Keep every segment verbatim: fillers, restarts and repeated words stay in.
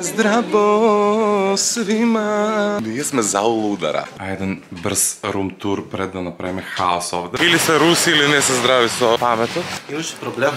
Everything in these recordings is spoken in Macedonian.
Здраво свима. Ние сме за удара. А еден брз рум тур пред да направиме хаос овде. Или се руси, или не се здрави со паметот. Имаше проблем.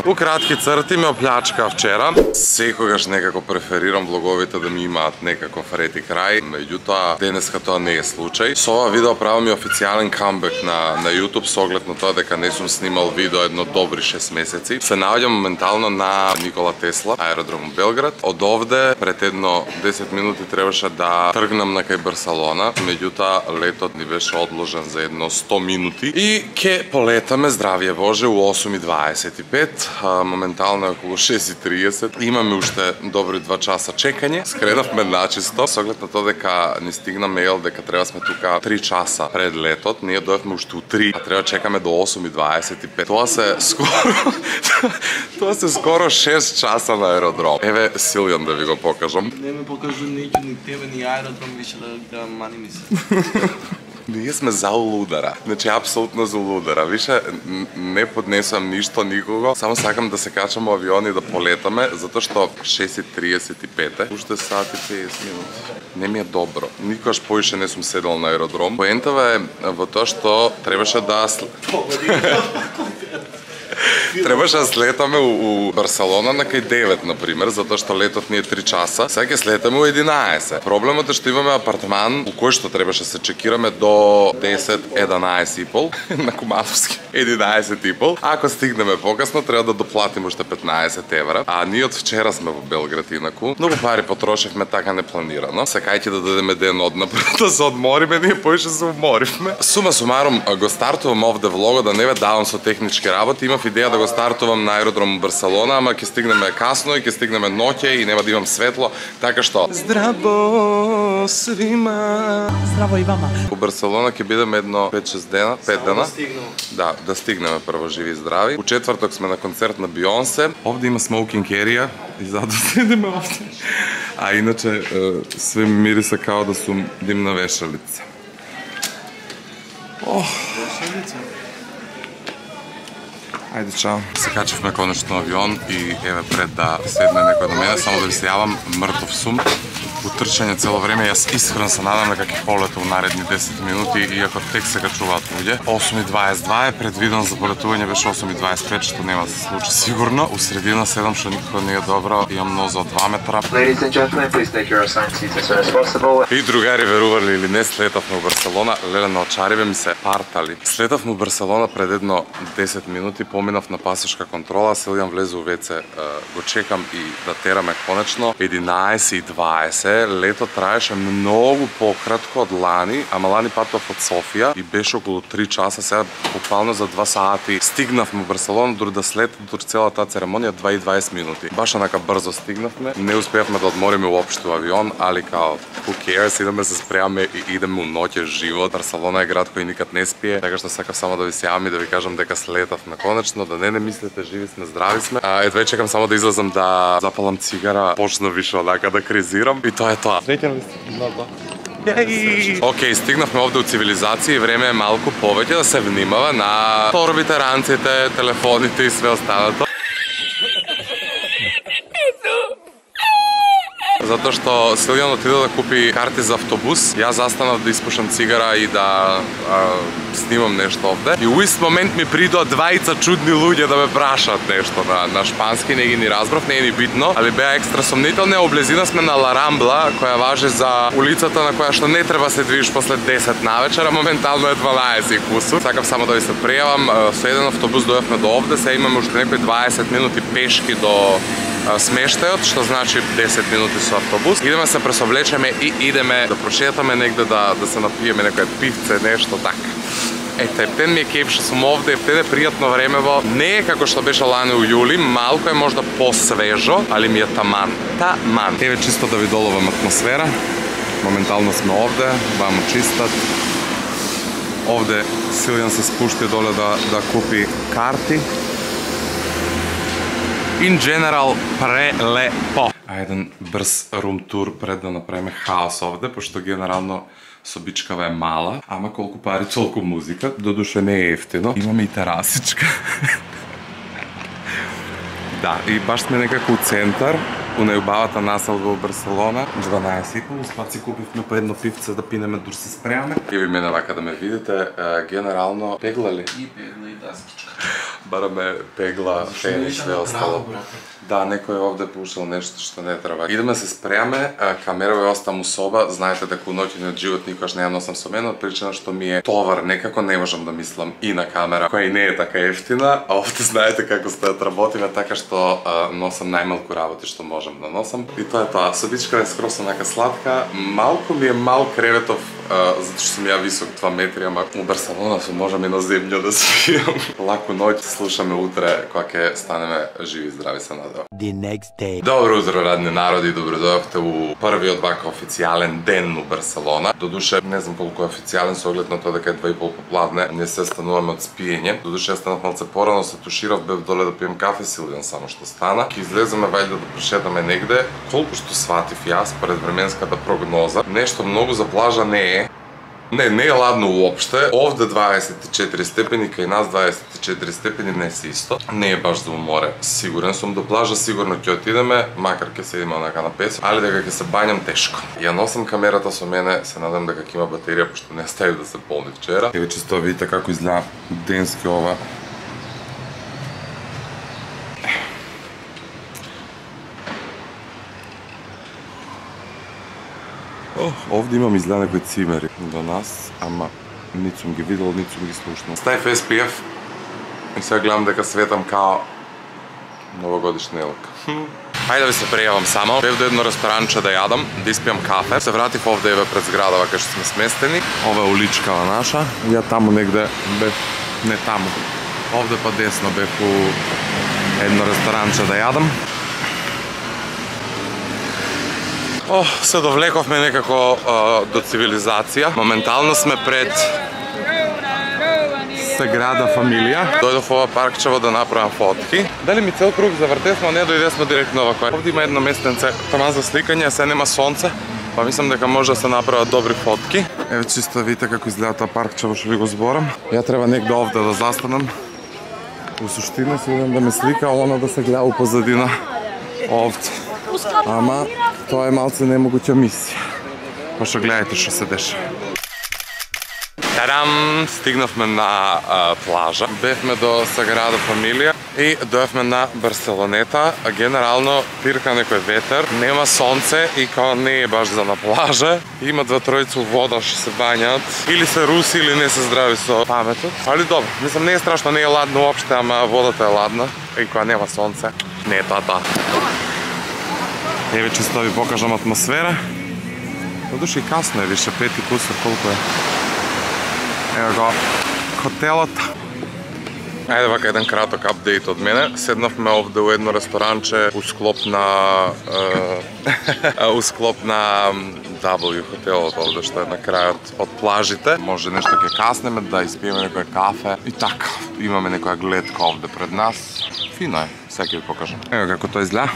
У кратки црти ме оплячка вчера. Секогаш некако преферирам влоговите да ми имаат некаков ред и крај. Меѓутоа, денеска тоа не е случај. Со ова видео правам и официјален камбек на, на YouTube со оглед на тоа дека не сум снимал видео едно добри шест месеци. Се наоѓам моментално на Никола Тесла, аеродром Белград. Од овде пред едно десет минути требаше да тргнам на кај Барселона. Меѓутоа, летот ни беше одложен за едно сто минути. И ке полетаме, здравие Боже, у осум и дваесет и пет. Моментално е околу шест и триесет. Имаме уште добри два часа чекање. Скренавме начисто. Со оглед на тоа дека ни стигна мејл дека треба сме тука три часа пред летот. Ние дојдовме уште у три, а треба чекаме до осум и дваесет и пет. Тоа се скоро Тоа се скоро шест часа на аеродром. Еве Силјан да ви го покажам. Не ме покажу никој, ни тебе, ни аеродром, више да, да мани ми се. Ние сме за улудара. Значи, апсолутно за улудара. Више, не поднесувам ништо никого. Само сакам да се качам во авион и да полетаме, затоа што шест и триесет и пет е. Уште сат и петдесет минути. Не ми е добро. Никогаш поише не сум седел на аеродром. Поентава е во тоа што требаше да... Требаше да слетаме у, у Барселона на кај девет, например, затоа што летот ни е три часа. Сега ќе слетаме у единаесет. Проблемот е што имаме апартман у кој што требаше се чекираме до десет, единаесет и пол на Кумановски. единаесет и пол. Ако стигнеме покасно, треба да доплатиме уште петнаесет евра. А ние од вчера сме во Белград инаку. Многу пари потрошевме така непланирано. Сакајќи да дадеме ден однапред да се одмориме, ние поише се уморивме. Сума сумарум го стартувам овде влогот, да не ве давам со технички работи. Имав идеја да го стартувам на аеродром Барселона, ама ќе стигнеме касно и ќе стигнеме ноќе и нема да имам светло, така што здраво свима. Здраво и вама. У Барселона ќе бидеме едно пет-шест дена, пет дена. Да стигнем. Да, да стигнеме прво живи и здрави. У четврток сме на концерт на Бионсе. Овде има смоукинг ерија и затоа седиме овде. А иначе све мириса као да сум димна вешалица. Ох, Вешалица. Ајде, чао. Се качевме конечно на авион и еве пред да седне некој до мене, само да ви се јавам, мртов сум. Утрчање цело време, јас искрено се надам дека ќе полета у наредни десет минути, иако тек се качуваат луѓе. осум и дваесет и два е предвиден за полетување, беше осум и дваесет и пет, што нема да се случи сигурно. У средина седам, што никако не е добро, имам ноза од два метра. Ladies and gentlemen, please take your assigned seats as soon as possible. И другари, верували или не, слетавме у Барселона, леле на очариве ми се партали. Слетавме у Барселона пред едно десет минути, поминав на пасошка контрола, Силјан влезе у веце, го чекам и да тераме конечно. единаесет и дваесет, лето траеше многу пократко од лани, ама лани патов од Софија и беше околу три часа, сега буквално за два сати стигнавме у Барселона, дури да слет, дури цела таа церемонија два и дваесет минути. Баш онака брзо стигнавме, не успеавме да одмориме уопшто авион, али као who cares, идеме се спремаме и идеме у ноќе живот. Барселона е град кој никад не спие, така што сакав само да ви се јавам и да ви кажам дека слетавме конечно, да не не мислите, живи сме, здрави сме. А едве чекам само да излезам да запалам цигара, почна више онака да кризирам и тоа е тоа. Среќен ли сте? Да, да. Океј, стигнавме овде у цивилизација и време е малку повеќе да се внимава на торбите, ранците, телефоните и све останато. Затоа што Силјан отиде да купи карти за автобус, јас застанав да испушам цигара и да а, снимам нешто овде. И у ист момент ми придоа двајца чудни луѓе да ме прашаат нешто на, на шпански, не ги ни разбрав, не е ни битно, али беа екстра сомнителни. Облезина сме на Ла Рамбла, која важи за улицата на која што не треба се движиш после десет навечера, моментално е дванаесет и кусур. Сакав само да ви се пријавам, со еден автобус дојавме до овде, сега имаме уште некои дваесет минути пешки до смештајот, што значи десет минути со автобус. Идеме се пресоблечеме и идеме да прошетаме негде, да, да се напиеме некој пивце, нешто така. Ете, ептен ми е кејф што сум овде, ептен е пријатно времево. Не е како што беше лане у јули, малку е можда посвежо, али ми е таман. Таман. Еве чисто да ви доловам атмосфера. Моментално сме овде, вамо чистат. Овде Силјан се спушти доле да, да купи карти. In general, прелепо. А еден брз рум тур пред да направиме хаос овде, пошто генерално собичкава е мала, ама колку пари, толку музика, додуше не е ефтино. Имаме и терасичка. Да, и баш сме некако у центар, у најубавата населба во Барселона. дванаесет и пол, спад си купивме по едно пивце да пинеме дур се спреаме. И ви мене вака да ме видите, генерално пегла ли? И пегла и даскичка. Бараме пегла, фен и све остало. Да, некој овде пушал нешто што не треба. Идеме се спреаме, камера ја оставам у соба, знаете дека у ноќниот живот никогаш не ја носам со мене, од причина што ми е товар, некако не можам да мислам и на камера, која и не е така ефтина, а овде знаете како стојат работиме, така што а, носам најмалку работи што можам да носам. И тоа е тоа, собичка е скроз онака сладка, малку ми е мал креветов, а, затоа што сум ја висок два метри, ама у Барселона сум можам и на земја да спијам. Лаку ноќ, слушаме утре кога ќе станеме живи и здрави се надева. The next day. Добро утро, радни народи, добро дојдовте у првиот вака официјален ден у Барселона. Додуше, не знам колку е официјален со оглед на тоа дека е два и пол попладне, не се стануваме од спиење. Додуше, јас станав малце порано, се туширав, бев доле да пием кафе, Силвијан само што стана. Ке излеземе вајде да прошетаме негде. Колку што сватив јас пред временската прогноза, нешто многу за плажа не е. Не, не е ладно уопште. Овде дваесет и четири степени, кај нас дваесет и четири степени не се исто. Не е баш за море. Сигурен сум до плажа, сигурно ќе отидеме, макар ќе седиме онака на песок, али дека ќе се бањам тешко. Ја носам камерата со мене, се надам дека ќе има батерија, пошто не стави да се полни вчера. Еве чисто видите како изгледа денски ова. Oh, овде имам изгледа некои цимери до нас, ама нит сум ги видел, нит сум ги слушнал. Ставив Ес Пи Еф и сега гледам дека светам као новогодишна елка. Ајде да ви се пријавам само. Бев до едно ресторанче да јадам, да испијам кафе. Се вратив овде еве пред зградава кај што сме сместени. Ова е уличкава наша. Ја таму негде бев, не таму. Овде па десно бев у едно ресторанче да јадам. О, се довлековме некако а, до цивилизација. Моментално сме пред Саграда Фамилија. Дојдов ова паркчево да направам фотки. Дали ми цел круг завртевме, а не дојдесме директно овако. Овде има едно местенце, тама за сликање, се нема сонце, па мислам дека може да се направат добри фотки. Еве чисто видите како изгледа тоа паркчево што ви го зборам. Ја треба негде овде да застанам. У суштина се идем да ме слика, а она да се гледа у позадина овде. Ама тоа е малце немогуќа мисија. Па што гледајте што се деша. Тарам! Стигнавме на а, плажа. Бевме до Саграда Фамилија и дојавме на Барселонета. Генерално пирка некој ветер, нема сонце и као не е баш за на плажа. Има два тројца у вода што се бањат. Или се руси или не се здрави со паметот. Али добро, мислам не е страшно, не е ладно уопште, ама водата е ладна. И кога нема сонце, не е тоа тоа. Еве чисто ви покажам атмосфера. Додуше и касно е, више пет и кусор, колку е. Ево го хотелот. Ајде вака еден краток апдейт од мене. Седнавме овде у едно ресторанче у склоп на у склоп на W хотелот овде што е на крајот од плажите. Може нешто ќе каснеме да испиеме некој кафе и така. Имаме некоја гледка овде пред нас. Фино е, сега ќе ви покажам. Ево како тоа изгледа.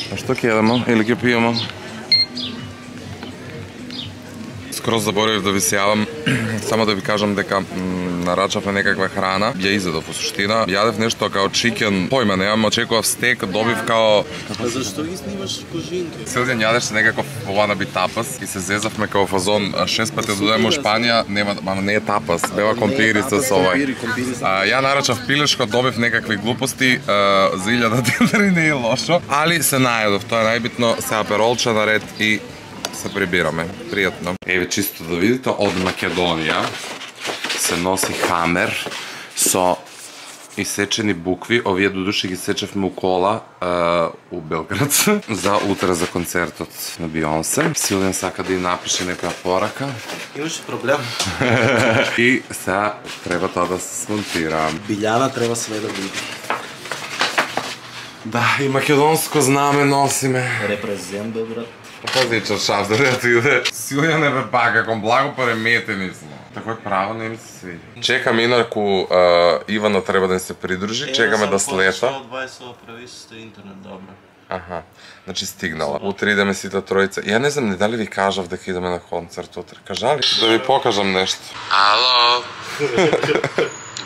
А што ќе јадеме или ќе пиеме? Скроз заборев да ви се јавам, само да ви кажам дека нарачавме некаква храна, ја изедов во суштина. Јадев нешто као чикен, појма немам, очекував стек, добив као... А зашто ги снимаш кожинки? Силден јадеше некаков wannabe тапас и се зезавме као фазон шест пати дојдеме во Шпанија, нема, ама не е тапас, бева компирица со овај. А, ја нарачав пилешко, добив некакви глупости, а, за илјада денари не е лошо, али се најадов, тоа е најбитно, се аперолче наред и се прибираме. Пријатно. Еве чисто да видите, од Македонија се носи хамер со исечени букви. Овие додуше ги сечевме у кола а, у Белград за утре за концертот на Бионсе. Силен сака да и напише некоја порака. Имаше проблем. И сега треба тоа да се смонтира. Билјана треба све да биде. Да, и македонско знаме носиме. Репрезент, бе, брат. Пази чаршав да не отиде. Силјан е бе пака, кон благо пареметени смо. Такој право не ми се свиди. Чекам инаку Ивана треба да ни се придружи, чекаме да слета. Од дваесет прави со интернет, добро. Аха. Значи стигнала. Утре идеме сите тројца. Ја не знам не дали ви кажав дека идеме на концерт утре. Кажали? Да ви покажам нешто. Ало.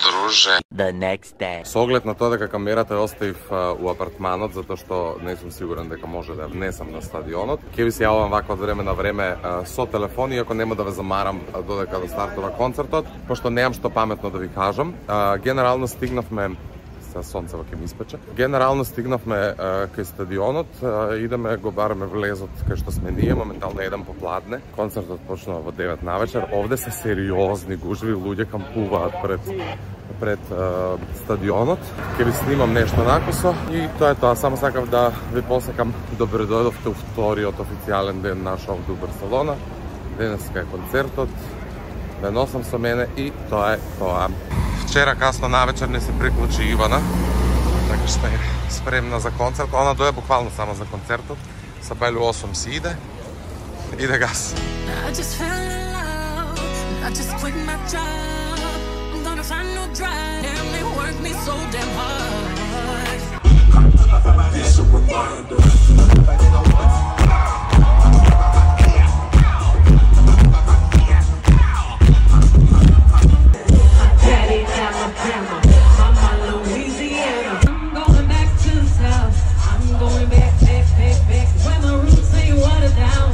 Друже. The next day. Со оглед на тоа дека камерата ја оставив у апартманот затоа што не сум сигурен дека може да ја внесам на стадионот. Ќе ви се јавам вака од време на време со телефон, иако нема да ве замарам додека да стартува концертот, пошто немам што паметно да ви кажам. Генерално стигнавме сонцево ќе ми испече. Генерално стигнавме кај стадионот, идеме го бараме влезот кај што сме ние, моментално еден попладне. Концертот почнува во девет навечер. Овде се сериозни гужви, луѓе кампуваат пред пред uh, стадионот. Ќе ви снимам нешто накусо и тоа е тоа. Само сакав да ви посакам добро дојдовте у вториот официјален ден наш овде у Барселона. Денеска е концертот. Да носам со мене и тоа е тоа. Вчера касно навечер не се приклучи Ивана, така што е спремна за концерт. Она дојде буквално само за концертот. Са бајле осум си иде. Иде газ. Find no drive, damn, they work me so damn hard. It's a reminder. Daddy, Alabama, Mama, Louisiana. I'm going back to the South. I'm going back, back, back, back. Where my roots ain't watered down.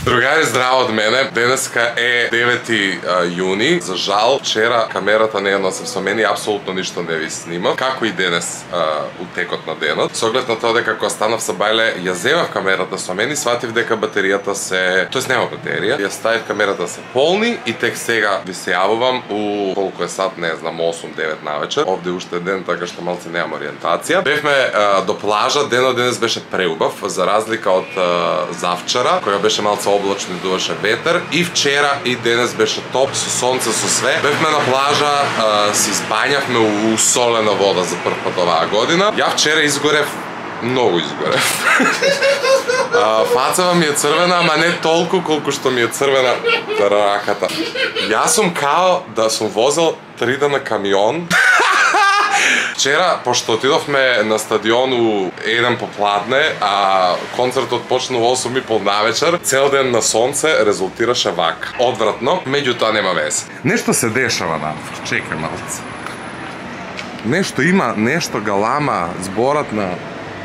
Другари, здраво од мене. Денеска е девети јуни. За жал, вчера камерата не ја носев со мене и апсолутно ништо не ви снимав. Како и денес а, у текот на денот. Со оглед на тоа дека кога станав са бајле, ја земав камерата со мене и сватив дека батеријата се... Тоест нема батерија. Ја ставив камерата се полни и тек сега ви се јавувам у колку е сат, не знам, осум девет навечер. Овде уште ден, така што малце немам ориентација. Бевме а, до плажа, денот денес беше преубав, за разлика од а, завчера, која беше малце облачно и дуваше ветер. И вчера и денес беше топ, со сонце, со све. Бевме на плажа, а, си избањавме у солена вода за прв пат оваа година. Ја вчера изгорев, многу изгорев. а, фацава ми е црвена, ама не толку колку што ми е црвена раката. Јас сум као да сум возел три дена камион. Вчера, пошто отидовме на стадиону еден попладне, а концертот почна во осум и пол навечер, цел ден на сонце резултираше вака. Одвратно, меѓутоа нема вез. Нешто се дешава надвор, чекај малце. Нешто има, нешто галама, зборат на,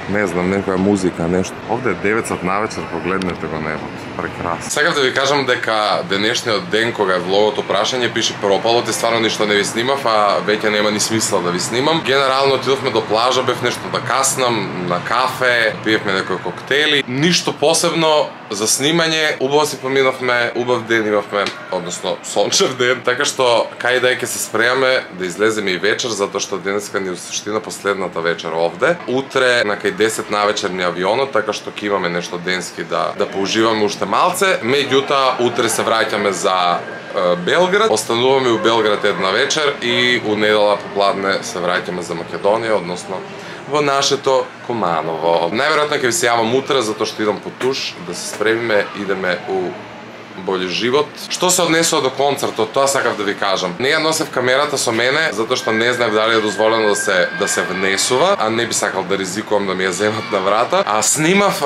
не знам, некоја музика, нешто. Овде е девет сат навечер, погледнете го небото. Прекрасно. Сакав да ви кажам дека денешниот ден кога е влогото прашање пише пропалот и стварно ништо не ви снимав, а веќе нема ни смисла да ви снимам. Генерално отидовме до плажа, бев нешто да каснам, на кафе, пиевме некои коктели. Ништо посебно за снимање, убаво си поминавме, убав ден имавме, односно сончев ден, така што кај да ќе се спремаме да излеземе и вечер, затоа што денеска ни суштина последната вечер овде. Утре на кај десет навечер ни авионот, така што ќе имаме нешто денски да да поуживаме уште малце, меѓутоа утре се враќаме за е, Белград, остануваме у Белград една вечер и у недела попладне се враќаме за Македонија, односно во нашето Куманово. Најверојатно ќе ви се јавам утре затоа што идам по туш да се спремиме, идеме у бољи живот. Што се однесува до концертот, тоа сакав да ви кажам. Не ја носев камерата со мене затоа што не знаев дали е дозволено да се да се внесува, а не би сакал да ризикувам да ми ја земат на врата. А снимав е,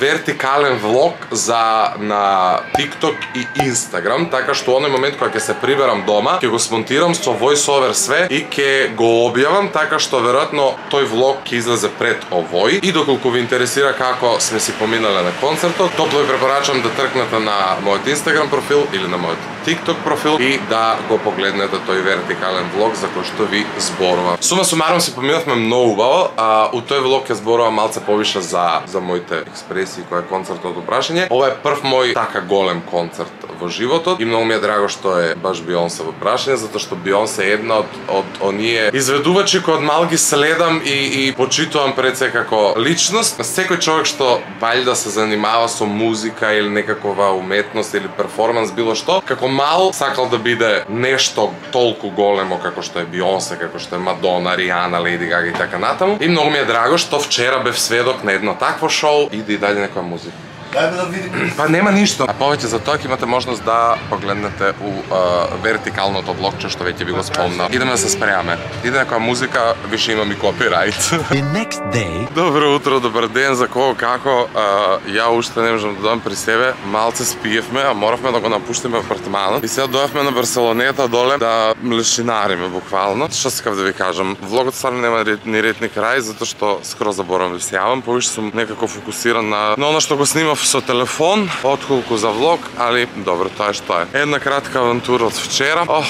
вертикален влог за на TikTok и Instagram, така што оној момент кога ќе се приберам дома, ќе го смонтирам со voice-over све и ќе го објавам, така што веројатно тој влог ќе излезе пред овој. И доколку ви интересира како сме си поминале на концертот, топло ви препорачам да тркнете на мојот Instagram профил или на мојот TikTok профил и да го погледнете тој вертикален влог за кој што ви зборувам. Сума сумарум си поминавме многу убаво, а у тој влог ќе зборувам малце повише за за моите експресии кој е концертот упрашање. Ова е прв мој така голем концерт во во животот и многу ми е драго што е баш Бионсе во прашање, затоа што Бионсе е една од од оние изведувачи кои од мал ги следам и и почитувам пред се како личност. Секој човек што валјда се занимава со музика или некакова уметност или перформанс било што, како мал сакал да биде нешто толку големо како што е Бионсе, како што е Мадона, Ријана, Леди Гага и така натаму. И многу ми е драго што вчера бев сведок на едно такво шоу и да и даде некоја музика. Дајме да видиме. Па нема ништо. А повеќе за тоа ќе имате можност да погледнете у а, вертикалното влогче што веќе ви го спомнав. Идеме да се спремаме. Иде некоја музика, више имам и копирајт. The next day. Добро утро, добар ден, за кого како. А, ја уште не можам да дојдам при себе. Малце спиевме, а моравме да го напуштиме апартманот. И сега дојавме на Барселонета доле да млешинариме буквално. Што сакав да ви кажам, влогот стварно нема ни ред ни крај, затоа што скроз заборам да се јавам. Повише сум некако фокусиран на, на она што го снимав со телефон, отколку за влог, али добро, тоа е што е. Една кратка авантура од вчера. Ох,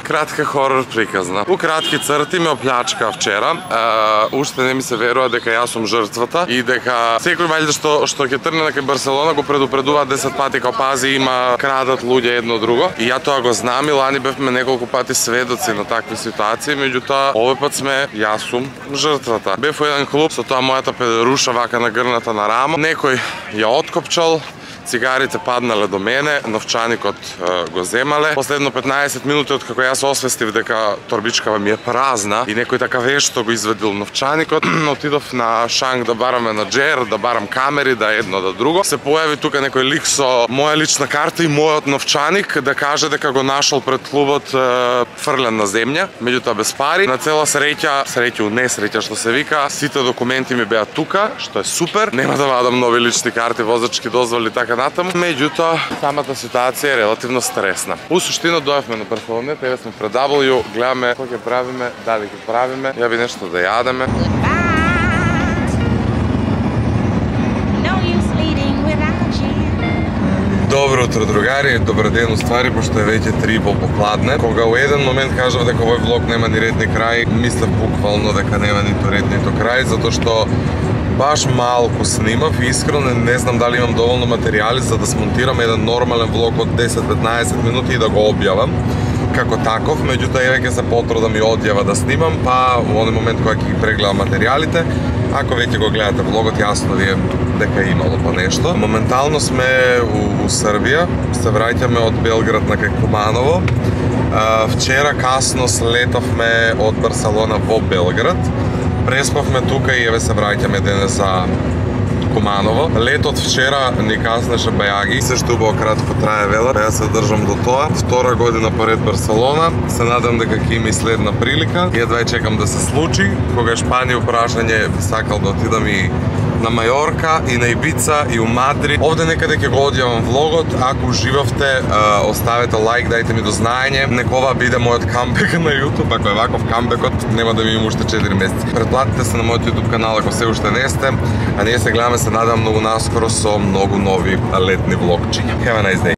кратка хорор приказна. У кратки црти ме оплячка вчера. Uh, уште не ми се верува дека јас сум жртвата и дека секој валјда што што ќе тргне на кај Барселона го предупредува десет пати као пази има крадат луѓе едно друго. И ја тоа го знам и лани бевме неколку пати сведоци на такви ситуации, меѓутоа овој пат сме јас сум жртвата. Бев во еден клуб со тоа мојата педеруша вака нагрната на рамо. Некој ја откопчал, цигарите паднале до мене, новчаникот е, го земале. Последно петнаесет минути од како јас освестив дека торбичкава ми е празна и некој така вешто го изведил новчаникот, отидов на шанг да бараме на джер, да барам камери, да едно да друго. Се појави тука некој лик со моја лична карта и мојот новчаник да каже дека го нашол пред клубот е, фрлен на земја, меѓутоа без пари. На цела среќа, среќа у несреќа што се вика, сите документи ми беа тука, што е супер. Нема да вадам нови лични карти, возачки дозволи така натаму. Меѓутоа, самата ситуација е релативно стресна. У суштина дојавме на Барселонета, еве сме пред дабл ю, гледаме кој ќе правиме, дали ќе правиме, ја би нешто да јадеме. Добро утро, другари, добар ден уствари, пошто е веќе три во попладне. Кога у еден момент кажав дека овој влог нема ни ред ни крај, мислев буквално дека нема ниту ред ниту крај, затоа што баш малку снимав и искрено не знам дали имам доволно материјали за да смонтирам еден нормален влог од десет-петнаесет минути и да го објавам како таков, меѓутоа еве ќе се потрудам и одјава да снимам, па во оној момент кога ќе ги прегледам материјалите, ако веќе го гледате влогот, јасно ви е дека е имало по нешто. Моментално сме у, у Србија, се враќаме од Белград на кај Куманово. А, вчера касно слетовме од Барселона во Белград. Преспавме тука и еве се враќаме денес за Куманово. Летот вчера ни каснеше бајаги, се што убаво кратко трае велат, ја се држам до тоа. Втора година поред Барселона, се надам дека ќе има и следна прилика. Едва чекам да се случи. Кога Шпанија прашање би сакал да отидам и на Мајорка, и на Ибица, и у Мадрид. Овде некаде ќе го одјавам влогот. Ако уживавте, оставете лайк, дајте ми до знаење. Нека ова биде мојот камбек на YouTube. Ако е ваков камбекот, нема да ми има уште четири месеци. Претплатите се на мојот YouTube канал ако се уште не сте. А ние се гледаме, се надам многу наскоро со многу нови летни влогчиња. Have a nice day.